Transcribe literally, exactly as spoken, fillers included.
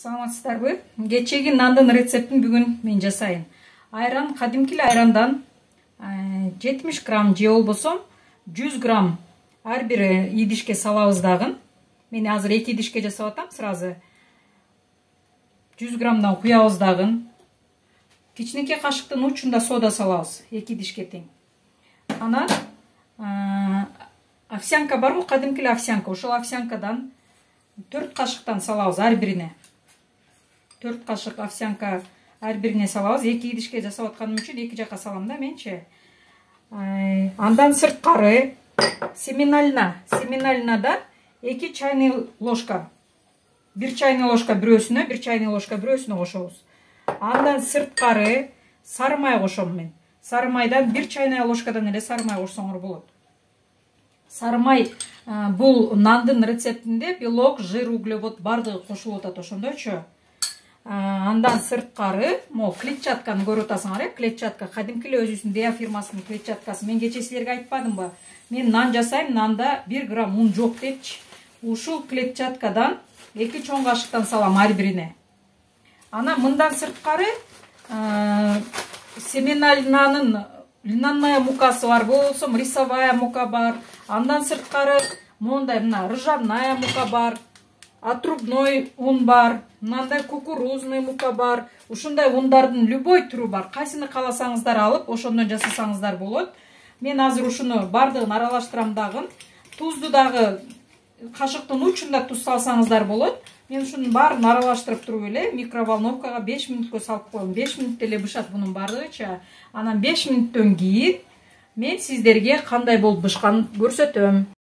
Саламатсыздарбы? Кечеги нандын рецептин бүгүн мен жасайын. Айран, кадимки эле айрандан жетимиш грамм же болбосо жүз грамм ар бир идишке салабыз дагы. Мен азыр эки идишке жасап атам сразу. жүз граммдан куябыз дагы. Кичинекей кашыктын учунда сода салабыз, эки идишке тең. Анан овсянка барбы, кадимки эле овсянка. Ошол овсянкадан төрт кашыктан салабыз ар бирине. төрт кашык овсянка ар бирине салабыз. эки идишке жасап атканым үчүн эки жака салам да менчи. Андан сырткары семенальна, семенальнадан эки чайный ложка. бир чайный ложка бирөөсүнө, бир чайный ложка бирөөсүнө кошобуз. Андан сырткары сары май кошом мен. Сары майдан бир чайный ложкадан эле сары май кошсоңор болот. Сары май бул нандын рецептинде белок, жир, углевод бардыгы кошулуп атат ошондойчу. Андан сырткары, могу клетчатканы көрүп атасыңар, э? Клетчатка кадимки эле өзүбүздүн Деа фирмасынын клетчаткасы. Мен кечээ силерге айтпадымбы? Мен нан жасайм, нанда бир грамм ун жок депчи. Ушул клетчаткадан эки чоң кашыктан салам ар бирине. Анан мындан сырткары семенальнанын льняная мукасы бар, болсо рисовая мука бар. Андан сырткары мондай мына ржаная мука бар. Отрубной ун бар, мындай кукурузный мука бар. Ушундай ундардын любой түрү бар. Кайсыны кааласаңыздар алып, ошондон жасасаңыздар болот. Мен азыр ушуну бардыгын аралаштырам дагы. Тузду дагы кашыктын учунда туз салсаңыздар болот. Мен ушунун баарын аралаштырып туруп эле микроволновкага беш мүнөткө салып коем. беш мүнөттө эле бышат бунун бардыгыча. Анан беш мүнөттөн кийин мен сиздерге кандай болуп бышканын көрсөтөм.